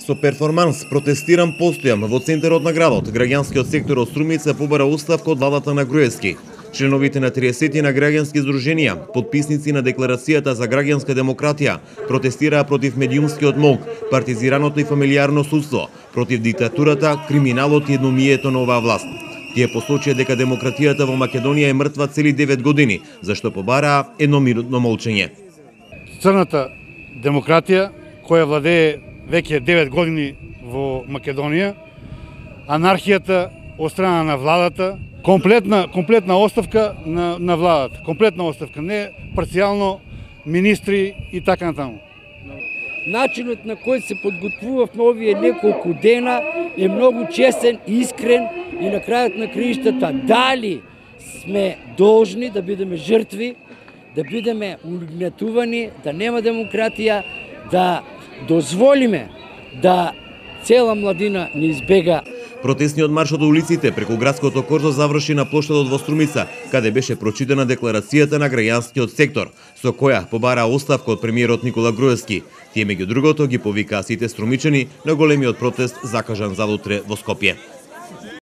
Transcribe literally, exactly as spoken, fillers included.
Со перформанс протестирам постојам во центарот на градот. Граѓанскиот сектор од Струмица побара оставка од владата на Груевски. Членовите на триесет на граѓански здруженија, подписници на декларацијата за граѓанска демократија, протестираа против медиумскиот мок, партизираното и фамилиарно судство, против диктатурата, криминалот и едномијето на оваа власт. Тие посочија дека демократијата во Македонија е мртва цели девет години, зашто побараа едноминутно молчење. Црната демократија која владее веќе девет години во Македонија, анархијата од страна на владата, комплетна комплетна оставка на на владата, комплетна оставка, не парцијално министри и така натаму. Начинот на кој се подготвувавме овие неколку дена е многу честен, искрен и на крајот на краиштата дали сме должни да бидеме жртви, да бидеме угнетувани, да нема демократија, да дозволиме да цела младина не избега. Протестниот марш од улиците преку градското корзо заврши на плоштадот во Струмица, каде беше прочитана декларацијата на граѓанскиот сектор, со која побараа оставка од премиерот Никола Груевски. Тие меѓу другото ги повикаа сите струмичани на големиот протест закажан за утре во Скопје.